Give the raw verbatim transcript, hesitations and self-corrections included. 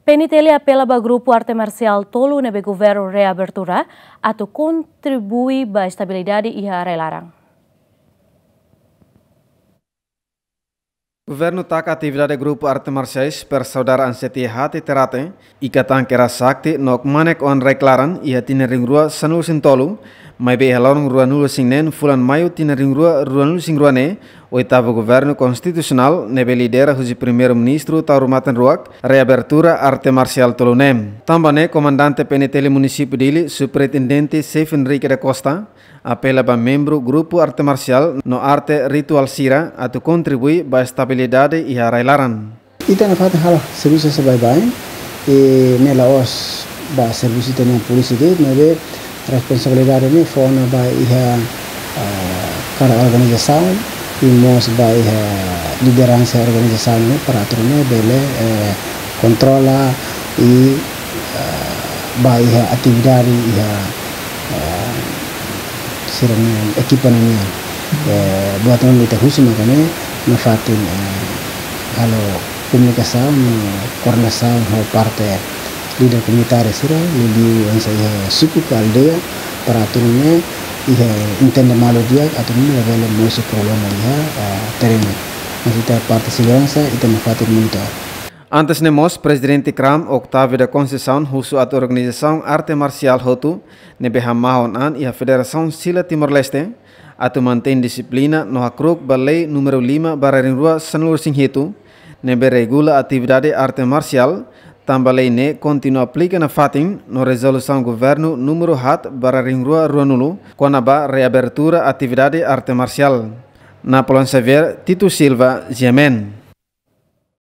P N T L apela ba grupu arte marsiál tolu ne'ebé governu reabertura atu kontribui ba estabilidade iha rai-laran. Governu taka atividade grupu arte marsiais Persaudara Ansetia Hate Terate, Ikatan Kera Sakti no Kmanek Oan Rai-Klaran iha tinan rihun rua sanulu-resin-tolu, maibé iha loron ruanulu-resin-neen fulan Maiu tinan rihun rua ruanulu-resin-rua ne'e, oitavu governu konstitusionál ne'ebé lidera husi Primeiru-Ministru Taur Matan Ruak reabertura arte marsiál tolu ne'e. Tanba ne'e, Komandante P N T L Munisípiu Dili, Superintendente Xefe Henrique da Costa, apela ba membru grupu arte marsiál no arte rituál sira atu kontribui ba estabilidade iha rai-laran. Ita nafatin halo servisu sira baibain, i ne'e la'ós ba servisu ita-nia polísia de'it, maibé responsabilidade ne'e fó ona ba iha, ah, kada organizasaun, i mós ba iha lideransa organizasaun ne'e para atu nune'e bele, eh, kontrola i, ah, ba iha atividade iha, ah, sira-nia ekipa nian. Eh, buat ne'ebé ita husu maka ne'e nafatin, eh, halo komunikasaun no koordenasaun ho parte líder komunitáriu sira, liuliu hanesan iha suku ka aldeia, para atu nune'e iha entende malu di'ak, atu nune'e labele mosu problema iha, ah, terrenu. Mas iha parte seguransa, ita nafatin monitor. Antes ne'e mós, Prezidente KRAM, Octavio da Conceição, husu atu organizasaun arte marsiál hotu ne'ebé hamahon an iha Federasaun Sila Timor-Leste atu mantein dixiplina no hakru'uk ba lei númeru lima barra rihun rua sanulu-resin-hitu, ne'ebé regula atividade arte marsiál, tanba lei ne'e kontinua aplika nafatin no rezolusaun governu númeru haat barra rihun rua ruanulu, kona-ba reabertura atividade arte marsiál. Napoleão Xavier, Tito Silva, G M N.